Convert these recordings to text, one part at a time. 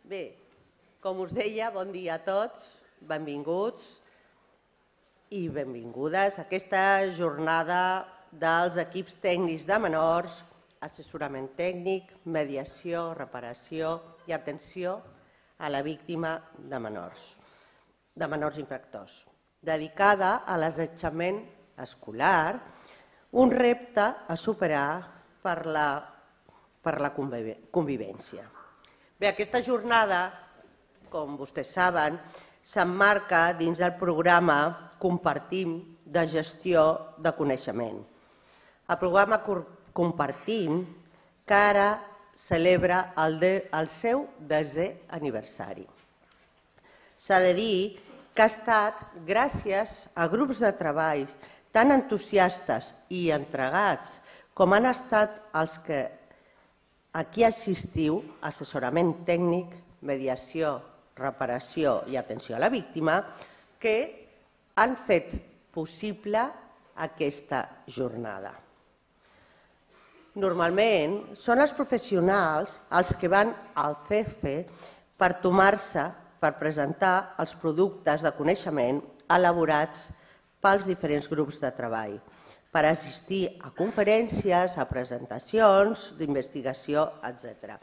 Bé, com us deia, bon dia a tots, benvinguts i benvingudes a aquesta jornada dels equips tècnics de menors, assessorament tècnic, mediació, reparació i atenció a la víctima de menors infractors, dedicada a l'assetjament escolar, un repte a superar per la convivència. Bé, aquesta jornada, com vostès saben, s'emmarca dins el programa Compartim de gestió de coneixement. El programa Compartim, que ara celebra el seu 10è aniversari. S'ha de dir que ha estat gràcies a grups de treball tan entusiastes i entregats com han estat els que aquí assistiu, assessorament tècnic, mediació, reparació i atenció a la víctima, que han fet possible aquesta jornada. Normalment són els professionals els que van al CEFE per presentar els productes de coneixement elaborats pels diferents grups de treball, per assistir a conferències, a presentacions d'investigació, etc.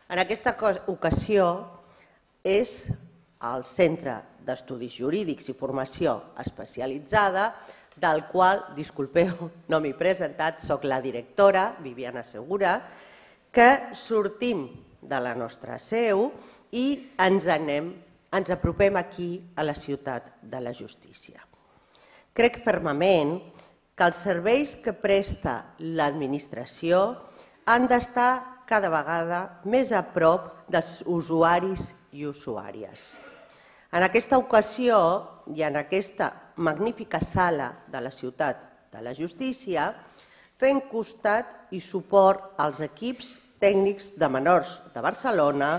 En aquesta ocasió és el Centre d'Estudis Jurídics i Formació Especialitzada, del qual, disculpeu, no m'he presentat, soc la directora, Viviana Segura, que sortim de la nostra seu i ens apropem aquí a la ciutat de la justícia. Crec fermament que els serveis que presta l'administració han d'estar cada vegada més a prop dels usuaris i usuàries. En aquesta ocasió i en aquesta magnífica sala de la ciutat de la justícia, fent costat i suport als equips tècnics de menors de Barcelona,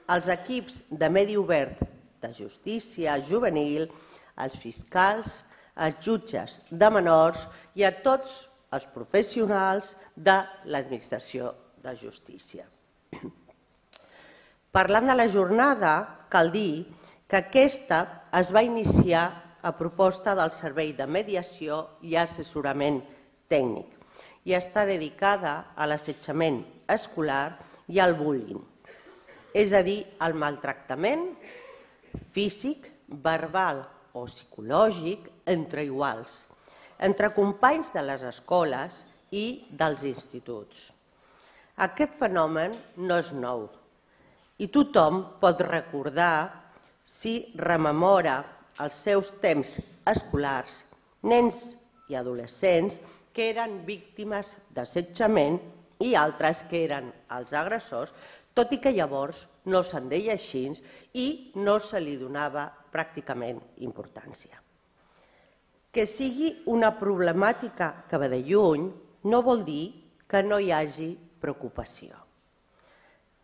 als equips de medi obert de justícia juvenil, als fiscals, als jutges de menors i a tots els professionals de l'administració de justícia. Parlant de la jornada, cal dir que aquesta es va iniciar a proposta del Servei de Mediació i Assessorament Tècnic i està dedicada a l'assetjament escolar i al bullying, és a dir, al maltractament físic, verbal o psicològic entre iguals, entre companys de les escoles i dels instituts. Aquest fenomen no és nou i tothom pot recordar, si rememora els seus temps escolars, nens i adolescents que eren víctimes d'assetjament i altres que eren els agressors, tot i que llavors no se'n deia així i no se li donava pràcticament importància. Que sigui una problemàtica que ve de lluny no vol dir que no hi hagi preocupació.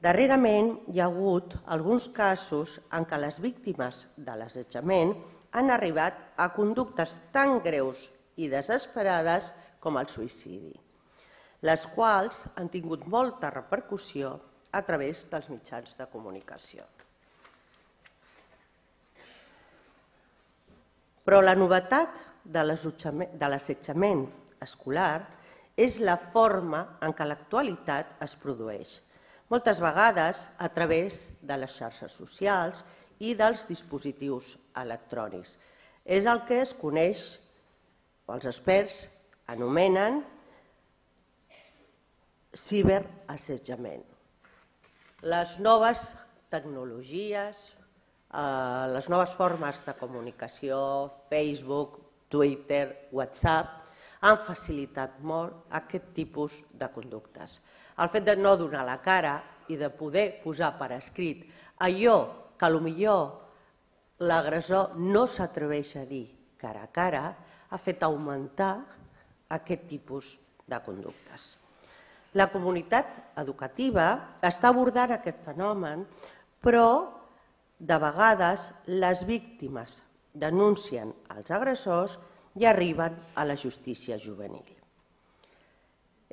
Darrerament hi ha hagut alguns casos en què les víctimes de l'assetjament han arribat a conductes tan greus i desesperades com el suïcidi, les quals han tingut molta repercussió a través dels mitjans de comunicació. Però la novetat de l'assetjament escolar és la forma en què l'actualitat es produeix, moltes vegades a través de les xarxes socials i dels dispositius electrònics. És el que es coneix, o els experts anomenen, ciberassetjament. Les noves tecnologies, les noves formes de comunicació, Facebook, Twitter, WhatsApp, han facilitat molt aquest tipus de conductes. El fet de no donar la cara i de poder posar per escrit allò que potser l'agressor no s'atreveix a dir cara a cara ha fet augmentar aquest tipus de conductes. La comunitat educativa està abordant aquest fenomen, però de vegades les víctimes denuncien els agressors i arriben a la justícia juvenil.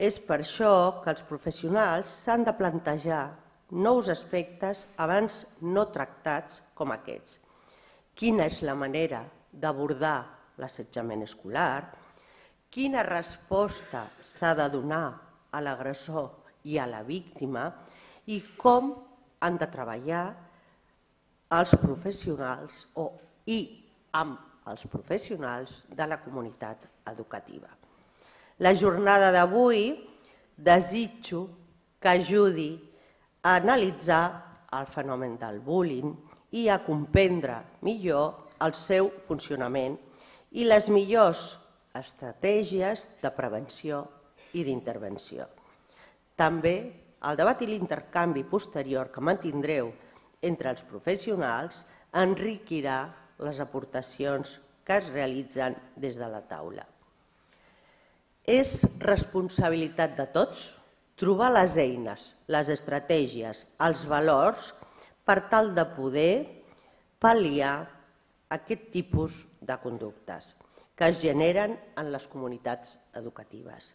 És per això que els professionals s'han de plantejar nous aspectes abans no tractats com aquests. Quina és la manera d'abordar l'assetjament escolar? Quina resposta s'ha de donar a l'agressor i a la víctima? I com han de treballar els professionals i amb els professionals de la comunitat educativa. La jornada d'avui desitjo que ajudi a analitzar el fenomen del bullying i a comprendre millor el seu funcionament i les millors estratègies de prevenció i d'intervenció. També el debat i l'intercanvi posterior que mantindreu entre els professionals enriquirà les aportacions que es realitzen des de la taula. És responsabilitat de tots trobar les eines, les estratègies, els valors per tal de poder pal·liar aquest tipus de conductes que es generen en les comunitats educatives.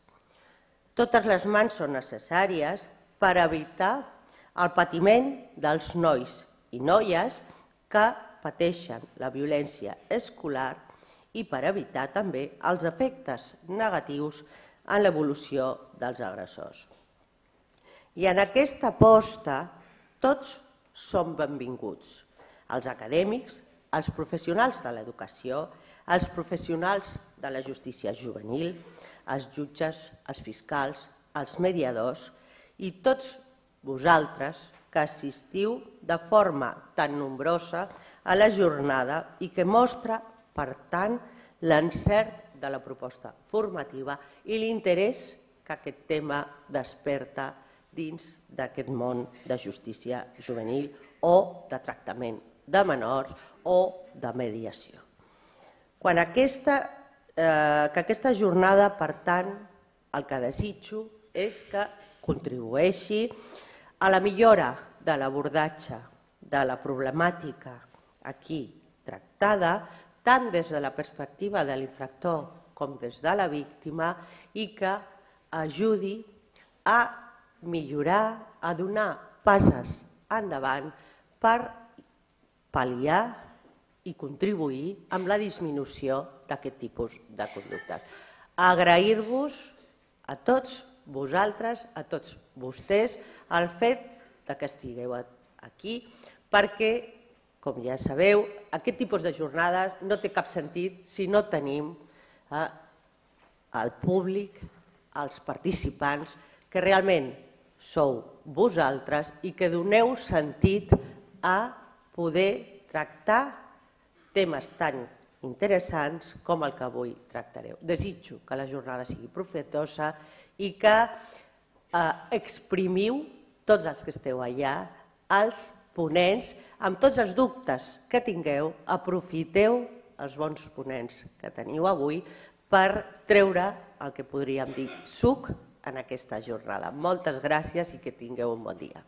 Totes les mans són necessàries per evitar el patiment dels nois i noies que pateixen la violència escolar i per evitar també els efectes negatius en l'evolució dels agressors. I en aquesta aposta tots som benvinguts, els acadèmics, els professionals de l'educació, els professionals de la justícia juvenil, els jutges, els fiscals, els mediadors i tots vosaltres que assistiu de forma tan nombrosa a la jornada i que mostra, per tant, l'encert de la proposta formativa i l'interès que aquest tema desperta dins d'aquest món de justícia juvenil o de tractament de menors o de mediació. Aquesta jornada, per tant, el que desitjo és que contribueixi a la millora de l'abordatge de la problemàtica aquí tractada, tant des de la perspectiva de l'infractor com des de la víctima, i que ajudi a millorar, a donar passes endavant per pal·liar i contribuir amb la disminució d'aquest tipus de conductes. Agrair-vos a tots vosaltres, a tots vostès, el fet que estigueu aquí, perquè, com ja sabeu, aquest tipus de jornades no té cap sentit si no tenim el públic, els participants, que realment sou vosaltres i que doneu sentit a poder tractar temes tan interessants com el que avui tractareu. Desitjo que la jornada sigui profitosa i que exprimiu tots els que esteu allà, els ponents, amb tots els dubtes que tingueu, aprofiteu els bons ponents que teniu avui per treure el que podríem dir suc en aquesta jornada. Moltes gràcies i que tingueu un bon dia.